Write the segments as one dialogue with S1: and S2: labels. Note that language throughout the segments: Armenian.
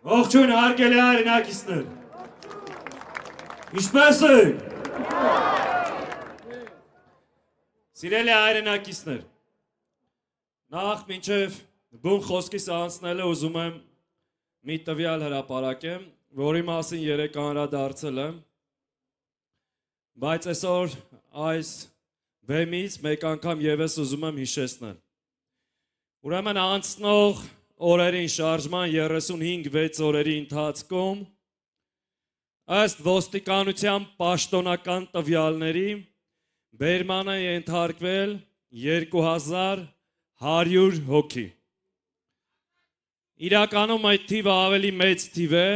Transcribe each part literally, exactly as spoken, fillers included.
S1: Ողջույն հարգելի հայրենակիցներ։ Ինչպե՞ս եք։ Սիրելի հայրենակիցներ։ Նախ մինչև բուն խոսքիս անցնելը ուզում եմ մի տվյալ հրապարակեմ, որի մասին երեկ անդրադարձել եմ, բայց այսօր այս բեմից մեկ անգամ ևս ուզում եմ հիշեցնել։ Ուրեմն անցնող օրերին շարժման երեսունհինգ վեց օրերի ընթացքում ըստ ոստիկանության պաշտոնական տվյալների բերման է ենթարկվել երկու հազար հարյուր հոգի։ Իրականում այդ թիվը ավելի մեծ թիվ է,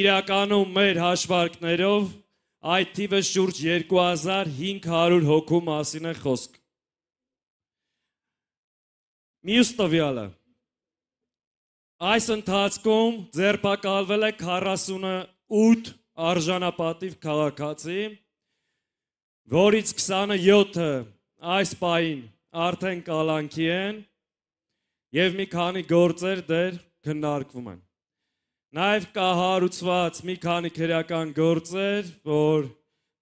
S1: իրականում մեր հաշվարկներով այդ թիվը շուրջ երկու հազար հինգ հարյուր հոգու մասին է խոսք։ Մյուս տվյալը։ Այս ընթացքում ձերբակալվել է քառասունութ արժանապատիվ քաղաքացի, որից քսանյոթը այս պահին արդեն կալանքի են և մի քանի գործեր դեռ քննարկվում են։ Նաև կա հարուցված մի քանի քրեական գործեր, որ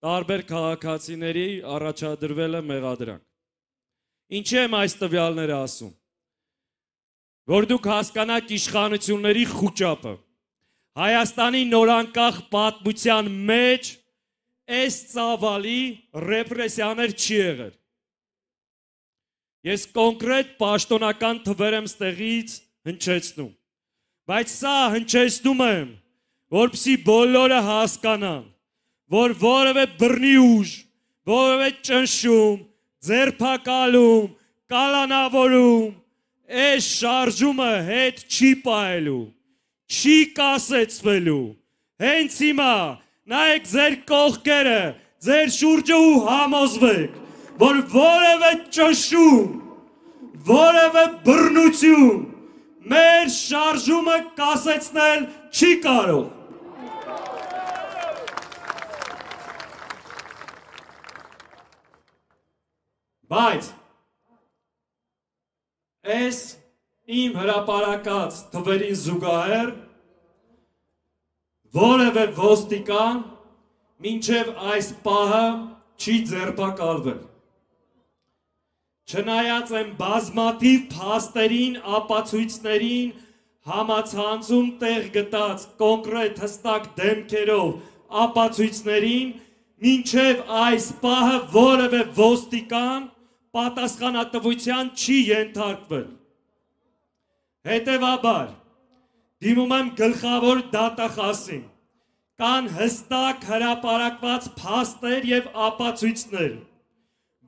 S1: տարբեր քաղաքացիների առաջադրվել է մեղադրանք։ Ինչի եմ այս տվյալները ասում։ Որ դուք հասկանաք իշխանությունների խուճապը, Հայաստանի նորանկախ պատմության մեջ այս ծավալի ռեպրեսիաներ չի եղել։ Ես կոնկրետ պաշտոնական թվեր եմ ստեղից հնչեցնում, բայց սա հնչեցնում եմ, որպեսզի բոլորը հասկանան, որ որևէ բռնի ուժ, որևէ ճնշում, ձերբակալում, կալանավորում, այս շարժումը հետ չի պահելու, չի կասեցվելու, հենց հիմա նայեք ձեր կողքերը, ձեր շուրջը ու համոզվեք, որ որևէ ճնշում, որևէ բռնություն մեր շարժումը կասեցնել չի կարող։ Բայց այս իմ հրապարակած թվերին զուգահեռ որևէ ոստիկան մինչև այս պահը չի ձերբակալվել։ Չնայած են բազմաթիվ փաստերին, ապացույցներին, համացանցում տեղ գտած կոնկրետ հստակ դեմքերով ապացույցներին, մինչև այս պահը որևէ ոստիկան պատասխանատվության չի ենթարկվել։ Հետևաբար, դիմում եմ գլխավոր դատախազին, կան հստակ հրապարակված փաստեր և ապացույցներ,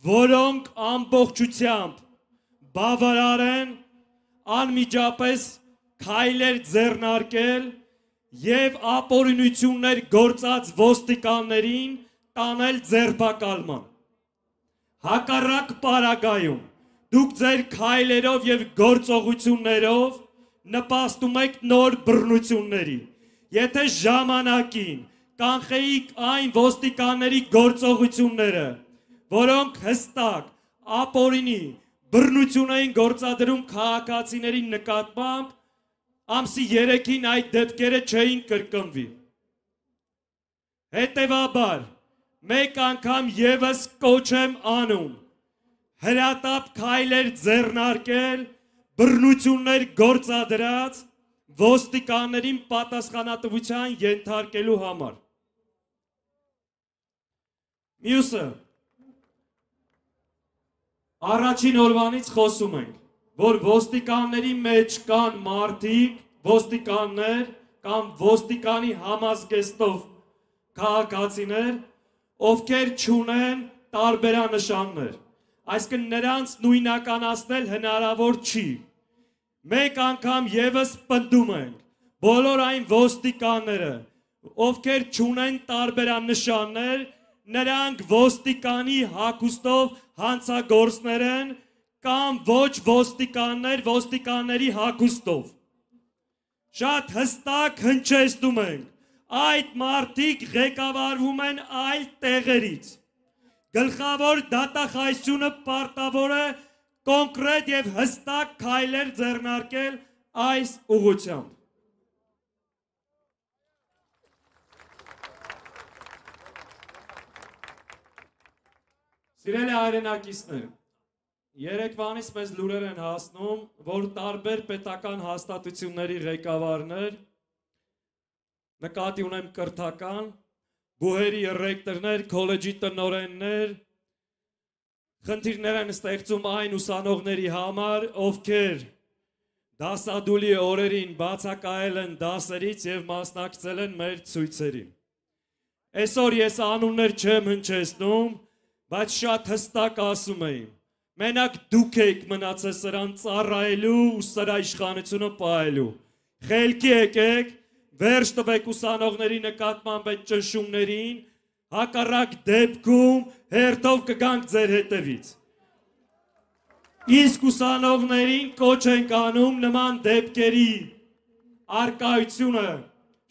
S1: որոնք ամբողջությամբ բավարար են անմիջապես քայլեր ձեռնարկել և ապօրինություններ գործած ոստիկաններին տանել ձերբակալման։ Հակառակ պարագայում դուք ձեր քայլերով և գործողություններով նպաստում եք նոր բռնությունների։ Եթե ժամանակին կանխեիք այն ոստիկանների գործողությունները, որոնք հստակ ապօրինի բռնություն էին գործադրում քաղաքացիների նկատմամբ, ամսի երեքին այդ դեպքերը չէին կրկնվի։ Հետևաբար, մեկ անգամ ևս կոչ եմ անում հրատապ քայլեր ձեռնարկել բռնություններ գործադրած ոստիկաններին պատասխանատվության ենթարկելու համար։ Մյուսը, առաջին օրվանից խոսում ենք, որ ոստիկանների մեջ կան մարդիկ, ոստիկաններ կամ ոստիկանի համազգեստով քաղաքացիներ, ովքեր չունեն տարբերանշաններ, այսինքն նրանց նույնականացնել հնարավոր չի։ Մեկ անգամ ևս պնդում ենք, բոլոր այն ոստիկանները, ովքեր չունեն տարբերանշաններ, նրանք ոստիկանի հագուստով հանցագործներ են կամ ոչ ոստիկաններ ոստիկանների հագուստով։ Շատ հստակ հնչեցնում ենք, այդ մարդիկ ղեկավարվում են այլ տեղերից։ Գլխավոր դատախազությունը պարտավոր է կոնկրետ և հստակ քայլեր ձեռնարկել այս ուղղությամբ։ Սիրելի հայրենակիցներ, երեկվանից մեզ լուրեր են հասնում, որ տարբեր պետական հաստատությունների ղեկավարներ, նկատի ունեմ կրթական, բուհերի ռեկտորներ, քոլեջի տնօրեններ, խնդիրներ են ստեղծում այն ուսանողների համար, ովքեր դասադուլի օրերին բացակայել են դասերից և մասնակցել են մեր ցույցերին։ Այսօր ես անուններ չեմ հնչեցնում, բայց շատ հստակ ասում եմ, մենակ դուք եք մնացել սրան ծառայելու ու սրա իշխանությունը պահելու։ Խելքի եկեք, վերջ տվեք ուսանողների նկատմամբ այդ ճնշումներին, հակառակ դեպքում հերթով կգանք ձեր հետևից։ Իսկ ուսանողներին կոչ ենք անում նման դեպքերի առկայությունը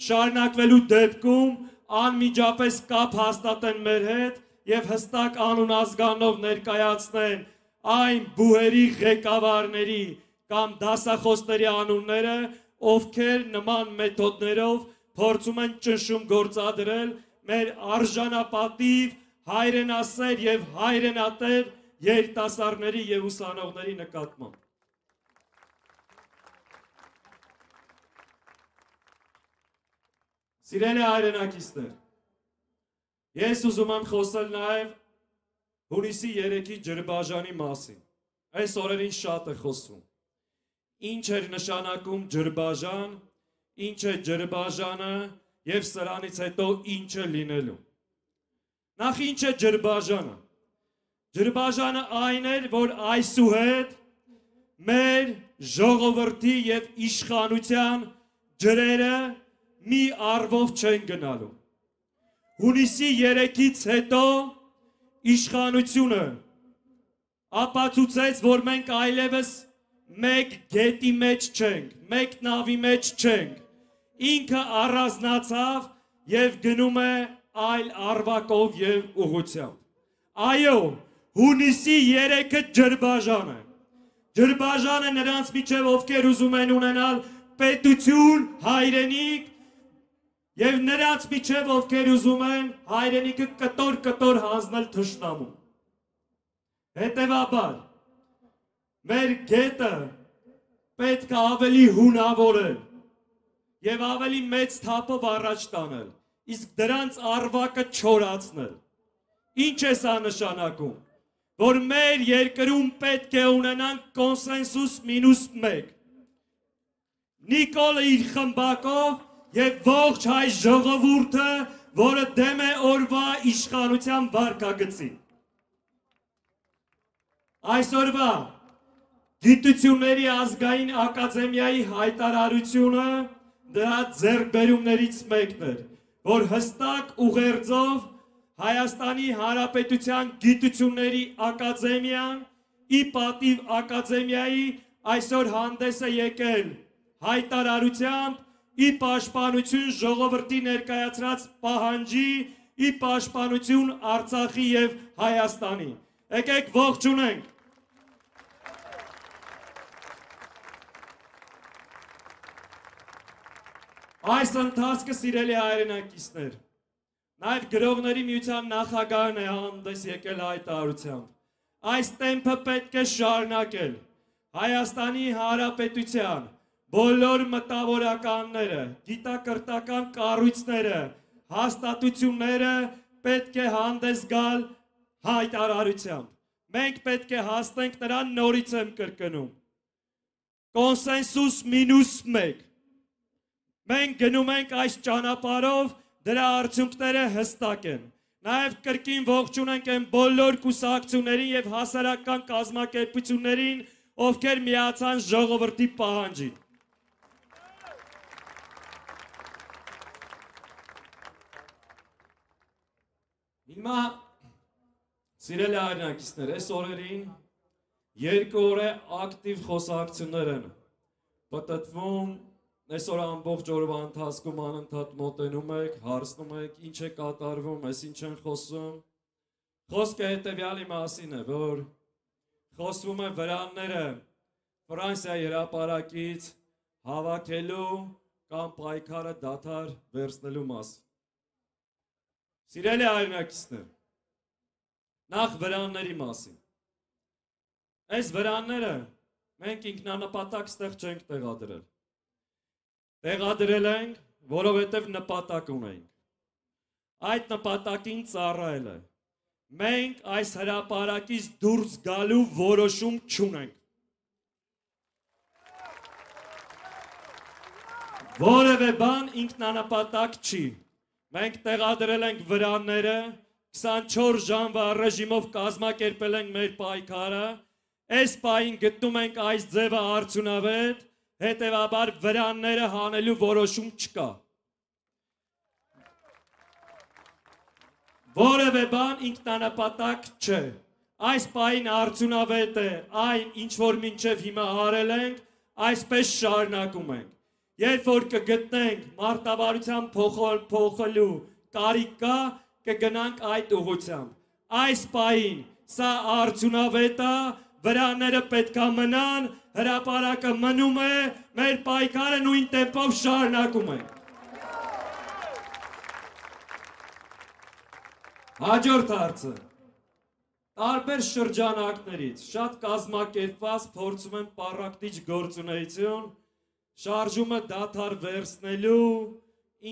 S1: շարունակվելու դեպքում անմիջապես կապ հաստատեն մեր հետ և հստակ անուն ազգանով ներկայացնեն այն բուհերի ղեկավարների կամ դասախոսների անունները, ովքեր նման մեթոդներով փորձում են ճնշում գործադրել մեր արժանապատիվ, հայրենասեր և հայրենատեր երիտասարդների և ուսանողների նկատմամբ։ Սիրելի հայրենակիցներ, ես ուզում եմ խոսել նաև հունիսի երեքի Ջրբաժանի մասին։ Այս օրերին շատ է խոսում։ Ինչ էր նշանակում Ջրբաժան, ինչ է Ջրբաժանը և սրանից հետո ինչ է լինելու։ Նախ ինչ է Ջրբաժանը։ Ջրբաժանը այն էր, որ այսուհետ մեր ժողովրդի և իշխանության ջրերը մի առվով չեն գնալու։ Հունիսի երեքից հետո իշխանությունը ապացուցեց, որ մենք այլևս մեկ գետի մեջ չենք, մեկ նավի մեջ չենք, ինքը առանձնացավ և գնում է այլ առվակով և ուղղությամբ։ Այո, հունիսի երեքը Ջրբաժան է։ Ջրբաժանը նրանց միջև ովքեր ուզում են ունենալ պետություն, հայրենիք, և նրանց միջև ովքեր ուզում են հայրենիքը կտոր-կտոր հանձնել թշնամուն։ Հետևաբար, մեր գետը պետք է ավելի հունավորել և ավելի մեծ թափով առաջ տանել, իսկ դրանց առվակը չորացնել։ Ինչ է սա նշանակում, որ մեր երկրում պետք է ունենանք կոնսենսուս մինուս մեկ։ Նիկոլը իր խմբակով և ողջ հայ ժողովուրդը, որը դեմ է օրվա իշխանության վարքագծին։ Այսօրվա Գիտությունների ազգային ակադեմիայի հայտարարությունը դրա ձեռքբերումներից մեկն էր, որ հստակ ուղերձով Հայաստանի Հանրապետության Գիտությունների ակադեմիան ի պատիվ ակադեմիայի այսօր հանդես է եկել հայտարարությամբ ի պաշտպանություն ժողովրդի ներկայացրած պահանջի, ի պաշտպանություն Արցախի և Հայաստանի։ Եկեք ողջունենք։ Այս ընթացքը, սիրելի հայրենակիցներ, նաև գրողների միության նախագահն է հանդես եկել հայտարարությամբ։ Այս տեմպը պետք է շարունակել։ Հայաստանի Հանրապետության բոլոր մտավորականները, գիտակրթական կառույցները, հաստատությունները պետք է հանդես գալ հայտարարությամբ։ Մենք պետք է հասնենք նրան, նորից եմ կրկնում, կոնսենսուս մինուս մեկ։ Մենք գնում ենք այս ճանապարհով, դրա արդյունքները հստակ են։ Նաև կրկին ողջունենք այն բոլոր կուսակցություններին և հասարակական կազմակերպություններին, ովքեր միացան ժողովրդի պահանջին։ Հիմա, սիրելի հայրենակիցներ, այս օրերին երկու օր է ակտիվ խոսակցություններ են պտտվում, այսօր ամբողջ օրվա ընթացքում անընդհատ մոտենում եք, հարցնում եք, ինչ է կատարվում, այս ինչ են խոսում։ Խոսքը հետևյալի մասին է, որ խոսվում է վրանները Ֆրանսիայի հրապարակից հավաքելու կամ պայքարը դադար վերցնելու մասին։ Սիրելի հայրենակիցներ, Նախ վրանների մասին։ Այս վրանները մենք ինքնանպատակ ստեղ չենք տեղադրել։ Տեղադրել ենք, որովհետև նպատակ ունենք։ Այդ նպատակին ծառայել է։ Մենք այս հրապարակից դուրս գալու որոշում չունենք։ Որևէ բան ինքնանպատակ չի։ Մենք տեղադրել ենք վրանները, քսանչորս ժամվա ռեժիմով կազմակերպել ենք մեր պայքարը, այս պահին գտնում ենք այս ձևը արդյունավետ, հետևաբար վրանները հանելու որոշում չկա։ Որևէ բան ինքնանպատակ չէ։ Այս պահին արդյունավետ է այն, ինչ որ մինչև հիմա արել ենք, այսպես շարունակում ենք։ Երբ որ կգտնենք մարտավարության փոխելու կարիք կա, կգնանք այդ ուղղությամբ։ Այս պահին սա արդյունավետ է, վրաները պետք է մնան, հրապարակը մնում է, մեր պայքարը նույն տեմպով շարունակում ենք։ Հաջորդ հարցը։ Տարբեր շրջանակներից շատ կազմակերպված փորձում են պառակտիչ գործունեություն, շարժումը դադար վերցնելու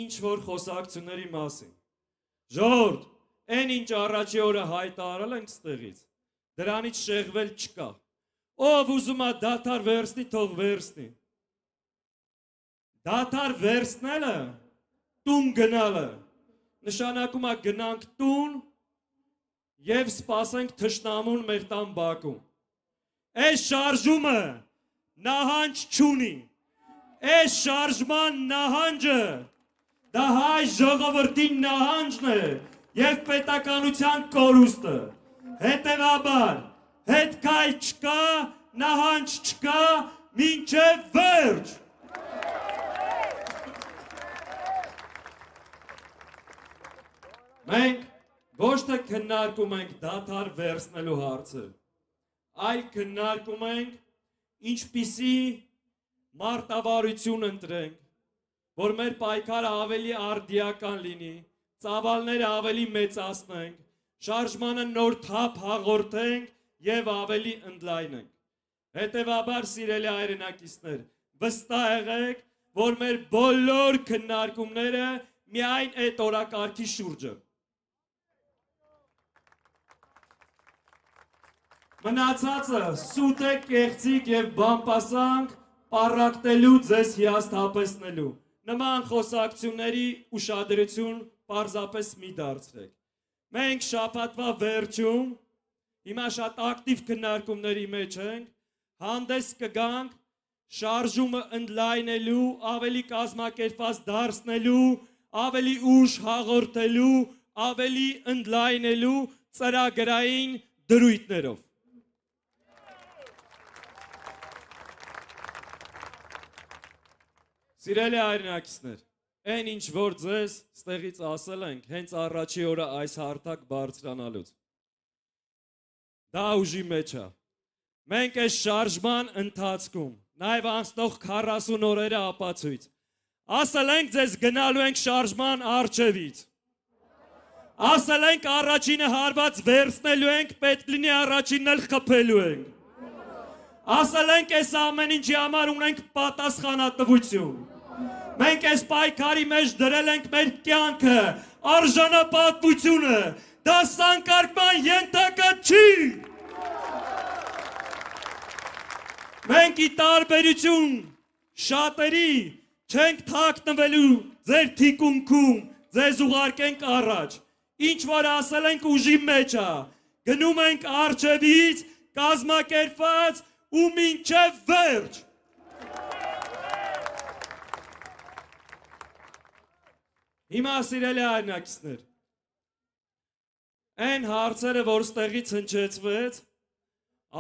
S1: ինչ որ խոսակցությունների մասին։ Ժողովուրդ, այն ինչ առաջի օրը հայտարարել ենք ստեղից, դրանից շեղվել չկա։ Ով ուզում է դադար վերցնի, թող վերցնի։ Դադար վերցնելը տուն գնալը նշանակում է գնանք տուն եւ սպասենք թշնամուն մեր տան բակում։ Այս շարժումը նահանջ չունի։ Այս շարժման նահանջը դա հայ ժողովրդի նահանջն է եւ պետականության կորուստը։ Հետևաբար հետքայլ չկա, նահանջ չկա, մինչև վերջ։ Մենք ոչ թե քննարկում ենք դադար վերցնելու հարցը, այլ քննարկում ենք ինչպիսի մարտավարություն ընտրենք, որ մեր պայքարը ավելի արդիական լինի, ծավալները ավելի մեծացնենք, շարժմանը նոր թափ հաղորդենք եւ ավելի ընդլայնենք։ Հետևաբար, սիրելի հայրենակիցներ, վստահ եղեք, որ մեր բոլոր քննարկումները միայն այդ օրակարգի շուրջ են։ Մնացածը սուտ է, կեղծիկ եւ բամպասանք պառակտելու, ձեզ հիասթափեցնելու։ Նման խոսակցությունների ուշադրություն պարզապես մի դարձրեք։ Մենք շաբաթվա վերջում, հիմա շատ ակտիվ քննարկումների մեջ ենք, հանդես կգանք շարժումը ընդլայնելու, ավելի կազմակերպված դարձնելու, ավելի ուժ հաղորդելու, ավելի ընդլայնելու ծրագրային դրույթներով։ Սիրելի հայրենակիցներ, այն ինչ որ ձեզ ստեղից ասել ենք, հենց առաջի օրը այս հարթակ բարձրանալուց։ Դա ուժի մեջ է։ Մենք այս շարժման ընթացքում, նաև անցնող քառասուն օրերը ապացույց, ասել ենք ձեզ գնալու ենք շարժման առջևից։ Ասել ենք առաջինը հարված վերցնելու ենք, պետք լինի առաջինն էլ խփելու ենք։ Ասել ենք այս ամեն ինչի համար ունենք պատասխանատվություն։ Մենք այս պայքարի մեջ դրել ենք մեր կյանքը, արժանապատվությունը, դա սանկարկման ենթակա չի։ Մենք ի տարբերություն շատերի չենք թաքնվելու ձեր թիկունքում, ձեզ ուղարկենք առաջ։ Ինչ որ ասել ենք ուժի մեջ է, գնում ենք առջևից, կազմակերպված ու մինչև վերջ։ Հիմա սիրելի հայրենակիցներ, այն հարցերը, որ ստեղից հնչեցվեց,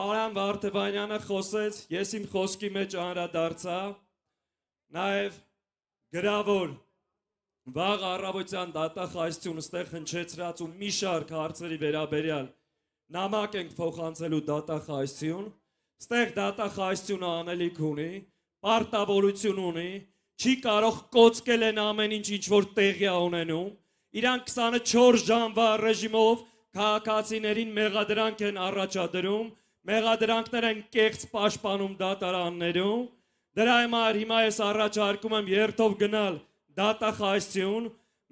S1: Արամ Վարդևանյանը խոսեց, ես իմ խոսքի մեջ անդրադարձա, նաև գրավոր վաղ առավոտյան դատախազություն ստեղ հնչեցրած ու մի շարք հարցերի վերաբերյալ նամակ ենք փոխանցելու դատախազություն, ստեղ դատախազությունը անելիք ունի, պարտավորություն ունի, չի կարող կոծկել են ամեն ինչ, ինչ որ տեղի է ունենում, իրանք քսանչորս ժամվա ռեժիմով քաղաքացիներին մեղադրանք են առաջադրում, մեղադրանքներ են կեղծ պաշտպանում դատարաններում, դրա համար հիմա ես առաջարկում եմ երթով գնալ դատախազություն,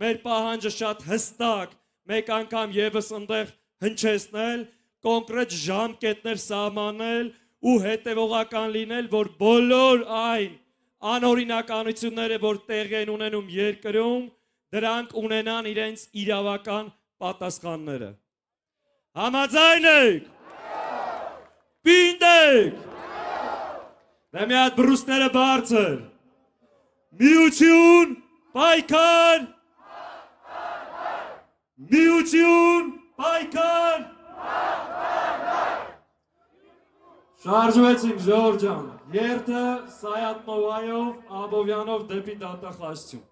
S1: մեր պահանջը շատ հստակ, մեկ անգամ եւս ընդեղ հնչեցնել, կոնկրետ ժամկետներ սահմանել ու հետևողական լինել, որ բոլոր այն անօրինականությունները, որ տեղի են ունենում երկրում, դրանք ունենան իրենց իրավական պատասխանները։ Համաձայն եք։ Պինդ եք։ Դե մի հատ բռուսները բարձր։ Միություն, պայքար։ Միություն, պայքար։ Շարժվեցինք, Ժորժ ջան, երթը Սայաթ Նովայով, Աբովյանով դեպի դատախազություն։